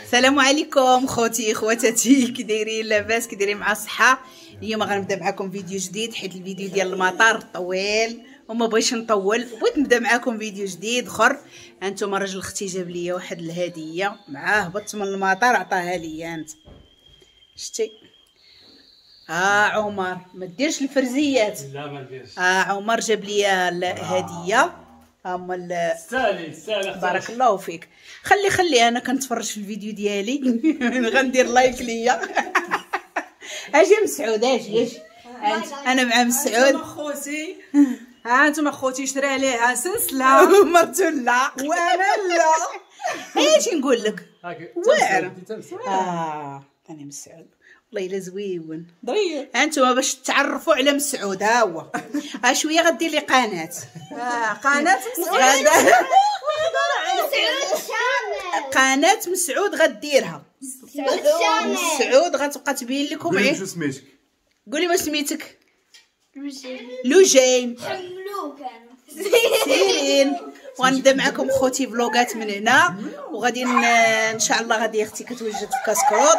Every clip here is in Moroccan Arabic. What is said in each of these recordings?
السلام عليكم خوتي خواتاتي، كي دايرين؟ لاباس؟ كي دايرين مع الصحة؟ اليوم غنبدا معكم فيديو جديد حيت الفيديو ديال المطار طويل وما بغيتش نطول، بغيت نبدا معكم فيديو جديد اخر. انتم راجل اختي جاب لي واحد الهدية معاه، هبطت من المطار عطاها لي. انت شتي عمر ما ديرش الفرزيات. لا ما نديرش. عمر جاب لي الهدية. هما سالي سالي، بارك الله فيك. خلي خلي انا كنتفرج في الفيديو ديالي غندير like ليا. اجي مسعود، اجي اجي، انا مع مسعود. خوتي ها انتم خوتي، شرا ليها سلسلة مرتو لا وانا لا. اجي نقول لك واعر. ثاني مسعود والله الا زويون ضرير. انتم باش تعرفوا على مسعود، ها هو ها شوية غدير لي قناة. قناة مسعود، قناة مسعود غديرها. مسعود غتبقى تبين لكم. قولي شنو سميتك؟ قولي ما سميتك؟ لوجين. حملوك انا سيرين. وغنبدا معكم خوتي فلوغات من هنا، وغادي ان شاء الله غادي اختي كتوجد في كاسكروط،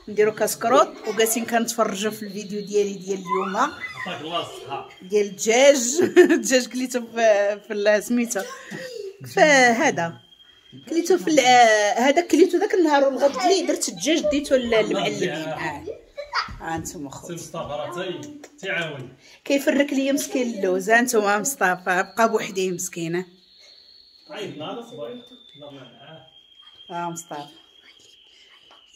نديرو كاسكروط وجالسين كنتفرجوا في الفيديو ديالي ديال اليوم. عطاك الله الصحة. ديال الدجاج. الدجاج كليتو في سميتو فهذا كليتو في هذا كليتو ذاك النهار، والغد لي درت الدجاج ديتو للمعلمين. ها انتم خوتي مصطفى راه تيعاون كيفرك ليا مسكين اللوز. ها انتم مصطفى بقى بوحدي مسكينه. عيطنا على صبايا. مصطفى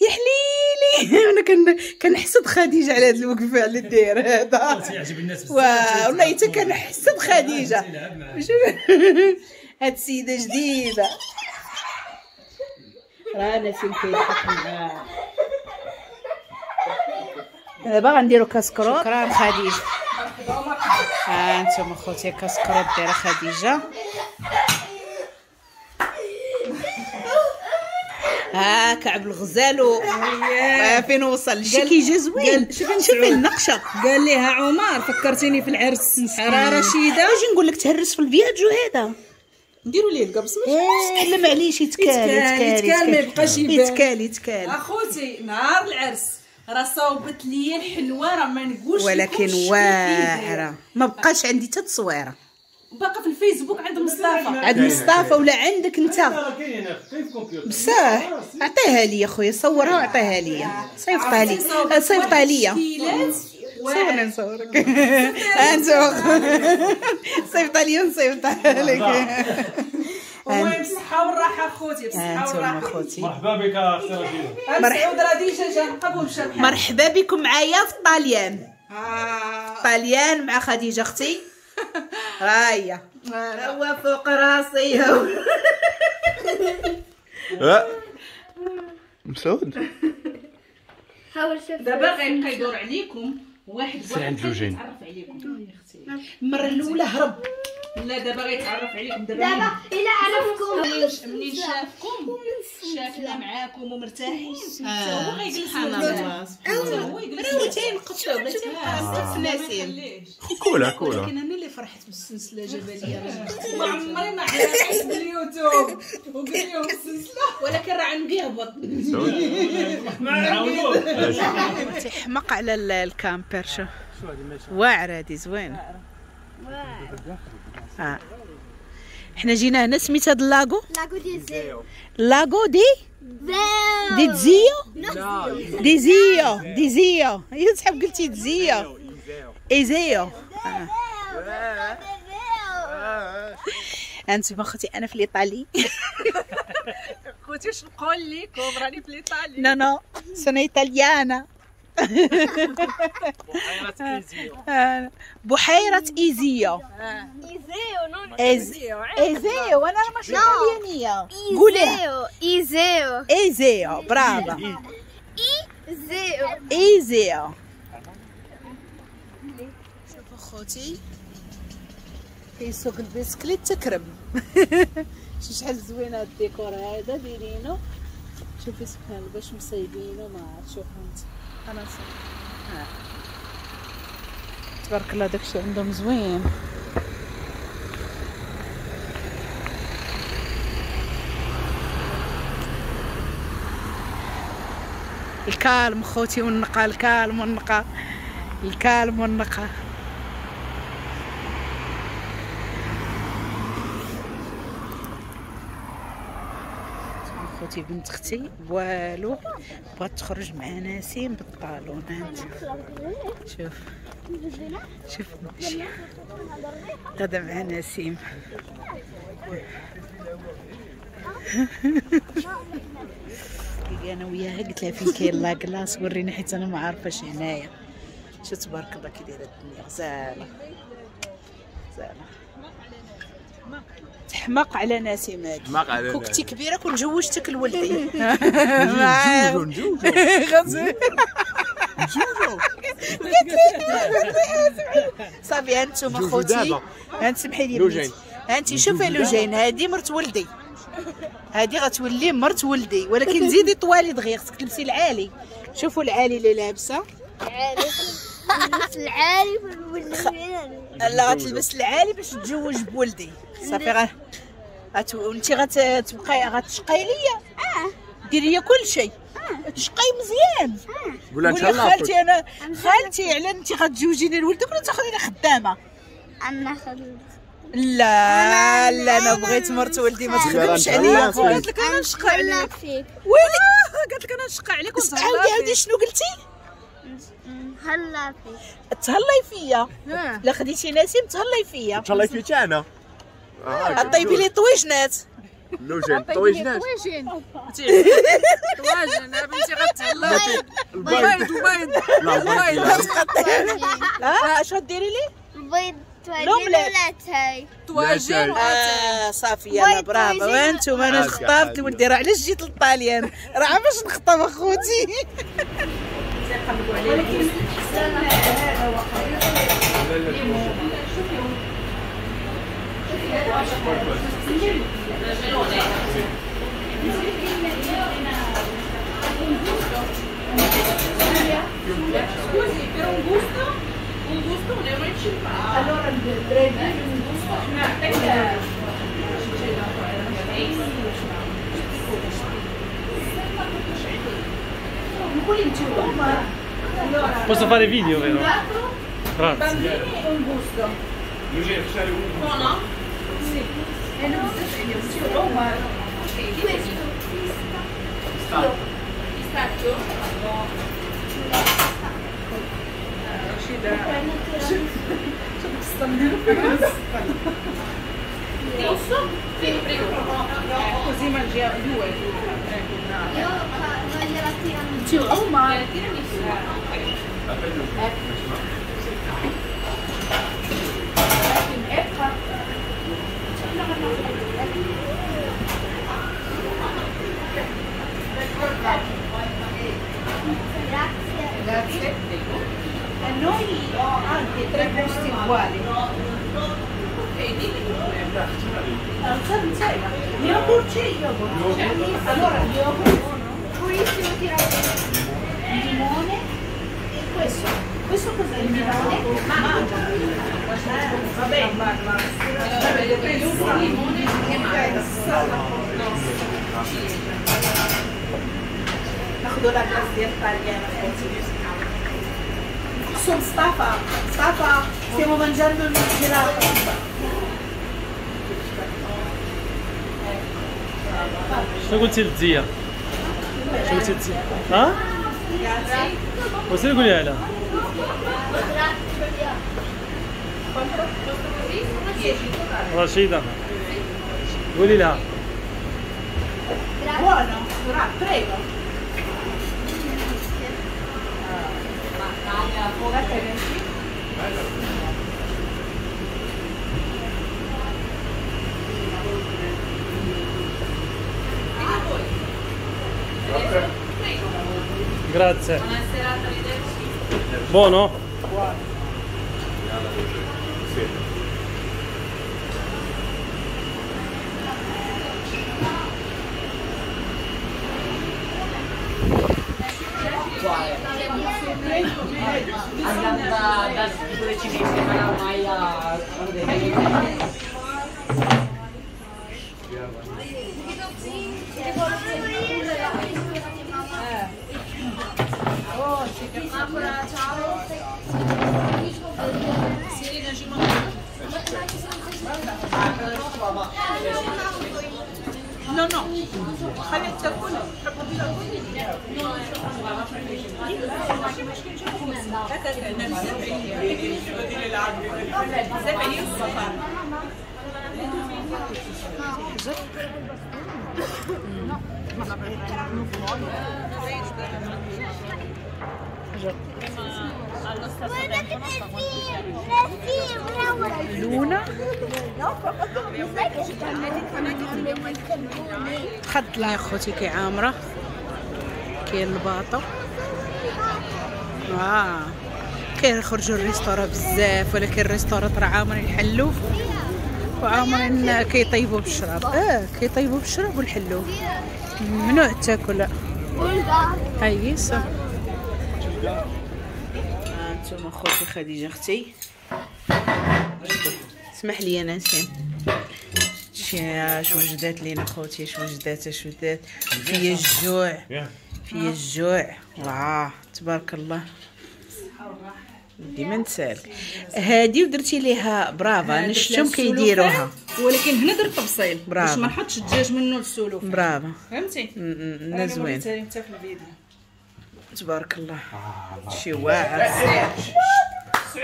يا حليلي. انا كنحسد خديجة على هذا الوقفة اللي داير هذا. تيعجب الناس بزاف والله حتى كنحسد خديجة. هاد السيدة جديدة راه نسيم كيضحك معاه. دابا غنديرو كاسكروط. شكرا خديجة. ها انتم خوتي كاسكروط دايرة خديجة. ها كعب الغزال فين وصل شي كيجي زوين. شوفي النقشه. قال ليها عمر فكرتيني في العرس راه رشيده. اجي نقول لك تهرس في الفياجو هذا نديروا ليه القبص. ماشي لا معليش، يتكال يتكال ما يبقاش يبان. يتكال يتكال. اخوتي نهار العرس راه صوبت لي الحلوة، راه ما نقولش ولكن واعرة. ما بقاش عندي حتى تصويره، باقا في الفيسبوك عند مصطفى. عند مصطفى ولا عندك انت؟ بصح عطيها لي خويا، صورها وعطيها لي، صيفطها لي صيفطها لي. صورني نصورك انت، صيفطها لي ونصيفطها لك. المهم بالصحة والراحة خوتي، بالصحة والراحة خوتي. مرحبا بك اختي رشيده. مسعود راه déjà جا نقب ومشى. مرحبا بكم معايا في الطاليان. الطاليان مع خديجة اختي. رايه هو فوق راسي. مسعود دابا غيبقى يدور عليكم واحد واحد يتعرف عليكم. المرة الاولى هرب، لا دابا غيتعرف عليكم. دابا الا عرفكم منين شافكم شافنا معاكم ومرتاحين حتى هو غيجلس. سبحان الله، راه تينقطعوا ولا تيبقى ناسين. كولا كولا. ولكن انا اللي فرحت بالسلسلة جبلية. ما عمري ما عرفت باليوتيوب وقلت لهم السلسلة، ولكن راه عندي يهبط. تيحمق على ال camper. شوف واعرة هادي زوينة. حنا جينا هنا سميت هاد ال lago، lago di Iseo. lago di دي زيو دي زيو دي زيو. هي تحب قلتي دزيو ايزيو. انتم خوتي انا في الايطالي. خوتي واش نقول لكم، راني في الايطالي. no no sono italiana. بحيرة إيزيو. إيزيو non إيزيو. إيزيو أنا ماشي إيطاليانية. قوليها إيزيو. إيزيو brava. إيزيو إيزيو. شوفوا خوتي كيسوق البسكليت تكرم. شحال زوين هاد الديكور هذا دايرينو. شوفي سبحان الله باش مصايبينو، ما عرفت. شوفوا انت انا تبارك الله داكشي عندهم زوين. ال calme خوتي والنقا، ال calme والنقا، ال calme والنقا. خوتي بنت اختي والو بغات تخرج مع نسيم بال talon. انت شوف شوف غدا مع نسيم. انا وياها قلت لها فين كاين la glace وريني، حيت انا ما عارفاش هنايا. شو تبارك الله كي دايرة الدنيا، غزاله غزاله. تحماق على نسيم هادي. كوكتي كبيرة كون جوجتك لولدي. نجوجو نجوجو نجوجو. صافي انتم خوتي، انت سمحي لي بنتي، انت شوفي لوجين هادي مرت ولدي، هادي غتولي مرت ولدي، ولكن زيدي طوالي دغيا، خصك تلبسي العالي. شوفوا العالي اللي لابسه، العالي العالي. لا غتلبس العالي باش تتزوج بولدي. صافي وانت غتبقاي غتشقاي ليا، ديري ليا كل شيء، تشقاي مزيان. قولي خالتي انا خالتي على انت غتزوجيني لولدك ولا تاخذيني خدامه؟ انا خدامه. لا لا انا بغيت مرت ولدي ما تخدمش عليا. قالت لك انا نشقى عليك. ويلي قالت لك انا نشقى عليك. عاودي عاودي شنو قلتي؟ تهلا فيك. تهلاي فيا. لا خديتي نسيم تهلاي فيا. تهلاي فيك انا. طيبي لي طويجنات. لوجين طويجنات. طواجن بنتي غتهلا. البيض البيض البيض. اش غديري لي؟ البيض طواجن ولا تاي؟ طواجن. صافي يلا برافو. وانتم انا خطبت ولدي، راه علاش جيت للطاليان؟ راه باش نخطب اخوتي. ولكن هذا وقع. Scusi, per un gusto 1,50 euro. Allora il un gusto Posso fare video, vero? Grazie. Bambini e un gusto. Buono? Sì. E non so se Ok, questo. Pistacchio. No. Posso? Sì, prego. Così mangiamo due. Io voglio la tiramisù. La tiramisù. Grazie. Grazie. E noi anche tre gusti uguali. Yogurt c'è yogurt. Allora yogurt, purissimo tiramisù, limone e questo. Questo cos'è? Il limone? Mangia. Va bene. Limone e mango. ناخذوا la glace ديال الطاليان اخوتي. نقصوا مصطفى. مصطفى stiamo mangiando il gelato. شنو قلتي للدزيه؟ شنو قلتي للدزيه؟ ها؟ وسير قوليها لها. رشيدة قولي لها. Buono, prego. Grazie. Buono? Buono. Sì. Andando da pure cinese, ma ormai a No no خليها تاكل. بزاف عليا السفر. لونا خد لها خوتي كيعامره كاين ال bateau كيخرجوا ال restaurant بزاف، ولكن ال restaurant راه عامرين الحلوف وعامرين كيطيبوا بالشراب. كيطيبوا بالشراب والحلوف، ممنوع تاكل. هاي صح. انتم خوتي خديجة اختي، اسمح لي نسيم اش وجدات لينا خوتي، اش وجدات اش وجدات. فيا الجوع فيا الجوع. واه تبارك الله ديما نسالك هادي ودرتي ليها برافا. انا شفتهم كيديروها، ولكن هنا درت تفصيل باش ما نحطش الدجاج منه للسلوف. برافا فهمتي؟ زوين حتى في الفيديو تبارك الله. شي واعر.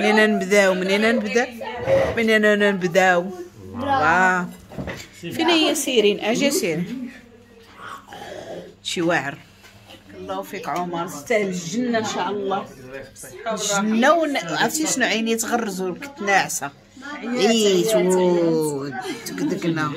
منين نبداو منين نبدا منين نبداو؟ واه فين هي سيرين؟ اجي سيرين. شي واعر. الله فيك عمر، تستاهل الجنة ان شاء الله. الجنة. عرفتي شنو عيني تغرزوا، كنت ناعسه عييت تكدكنا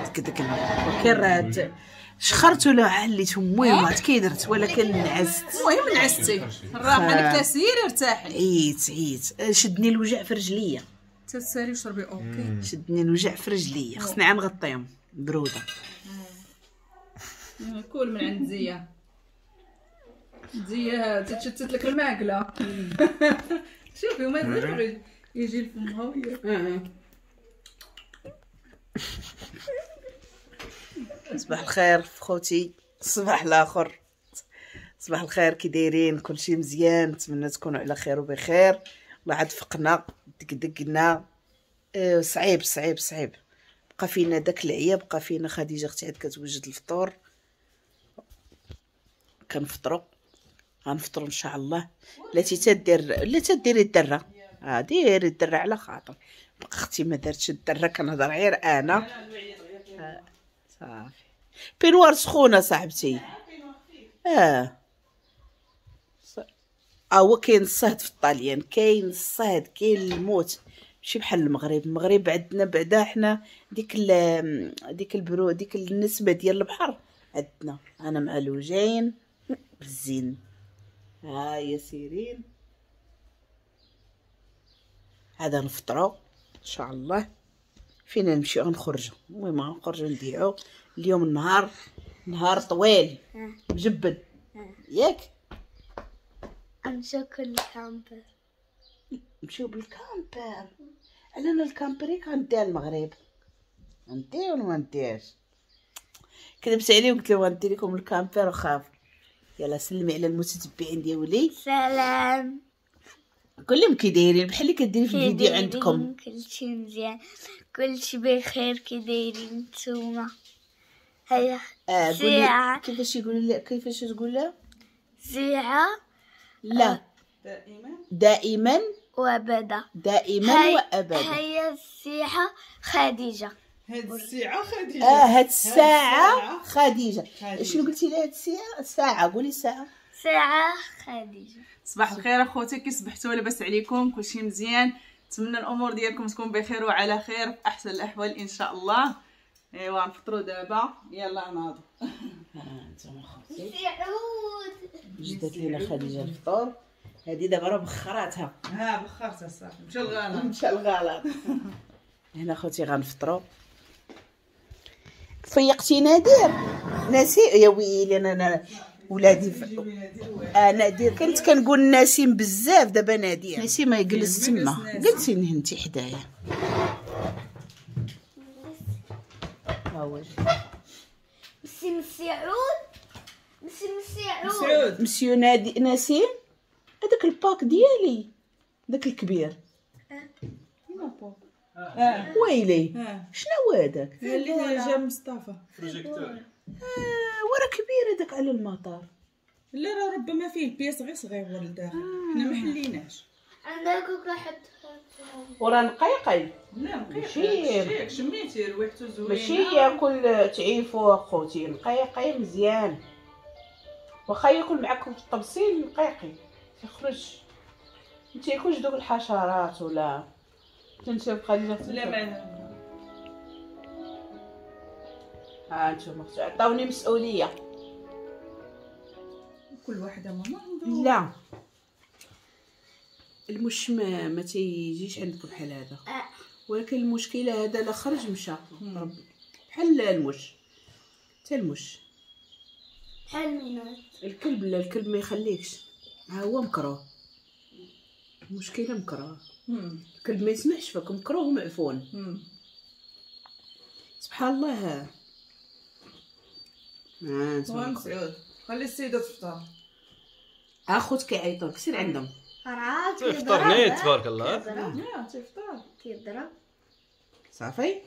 تكدكنا، ولكن راه شخرت ولا عليت. المهم كي درت ولكن نعست. المهم نعستي الراحة لك، سيري ارتاحي. عييت عييت، شدني الوجع في رجليا. تسالي وشربي. OK شدني الوجع في رجليا، خصني عا نغطيهم برودة. كل من عند زيا زيا تتشتت لك الماكلة. شوفي وما يقدرش يجي لفمها ويا. صباح الخير خوتي، الصباح الاخر. صباح الخير، كي دايرين؟ كلشي مزيان؟ نتمنى تكونوا على خير وبخير. الله عاد فقنا دقدقنا. صعيب صعيب صعيب، بقى فينا داك العيا، بقى فينا. خديجة اختي عاد كتوجد الفطور، كنفطروا غنفطروا ان شاء الله. لا تدير لا تديري الدرة، ديري الدرة على خاطر. بقى اختي ما دارتش الدرة، كنهضر غير انا. صافي peignoir سخونة صاحبتي. هو كاين الصهد في الطاليان، كاين الصهد، كاين الموت، ماشي بحال المغرب. المغرب عندنا بعدا حنا ديك ديك البرو، ديك النسبة ديال البحر عندنا. انا مع لوجين بالزين. ها يا سيرين، هذا نفطروا ان شاء الله. فينا نمشيو غنخرجوا، المهم غنخرجوا نديعو اليوم. النهار نهار طويل مجبد ياك. نمشيو بال camper، نمشيو بال camper. على ال camper غنديها المغرب، ندير ولا ما نديرش؟ كذبت عليه وقلت له غندير لكم ال camper وخاف. يلا سلمي على المتتبعين ديالي. سلام. كلهم كي دايرين بحال اللي كديري في الفيديو عندكم. كلشي مزيان، كلشي بخير. كي دايرين نتوما؟ هيا قولي كيفاش يقول، كيفاش تقول لها؟ ساعة لا دائما دائما وابدا، دائما وابدا. هيا الساعة خديجة. هاد الساعة خديجة. هاد الساعة خديجة. شنو قلتي لها؟ هاد الساعة ساعة، قولي ساعة. ساعة خديجة. صباح الخير اخوتي، كي صبحتوا؟ لاباس عليكم؟ كلشي مزيان؟ نتمنى الامور ديالكم تكون بخير وعلى خير في احسن الاحوال ان شاء الله. ايوا نفطروا دابا، يلا ناضوا. انتم خوتي جدات لينا خديجة الفطور. هذه دابا راه بخراتها. ها بخرتها صافي، مشى الغلط مشى الغلط. هنا خوتي غنفطروا. فيقتي نادر؟ ناسي يا ويلي انا ولادي نادر كنت كنقول نسيم بزاف، دابا نادر. نسيم ما يجلس تما، جلسي انت حدايا. ها هو مسي مسعود، مسي مسعود، مسيو نادي نسيم. هذاك ال pack ديالي، داك الكبير. ويلي شنو هو هذاك؟ اللي جا مصطفى projecteur. وراه كبير هذاك على المطار. لا راه ربما فيه ال pièce غير صغير لداخل، حنا ما حليناش. عندك واحد وراه نقيقي. لا نقيقي شميتي ريحته زوينة، ماشي ياكل تعيفو اخوتي، نقيقي مزيان. واخا ياكل معاكم في الطبسيل نقيقي تيخرج، ما تياكلش دوك الحشرات ولا تنشوف خديجة. لا ما ها انتم عطاوني مسؤولية. كل واحدة ماما عنده. لا المش ما تيجيش عندك بحال هذا، ولكن المشكلة هذا لا خرج مشى بحال المش، حتى المش بحال مينات. الكلب لا، الكلب ما يخليكش، ها هو مكروه. المشكلة مكروه، الكلب ما يسمحش فيك، مكروه ومعفون. سبحان الله. ها مسعود خلي السيدة تفطر. اخوت كيعيطوا لك، سير عندهم. راه تفطر نيت تبارك الله. لا تفطر كيضرب صافي.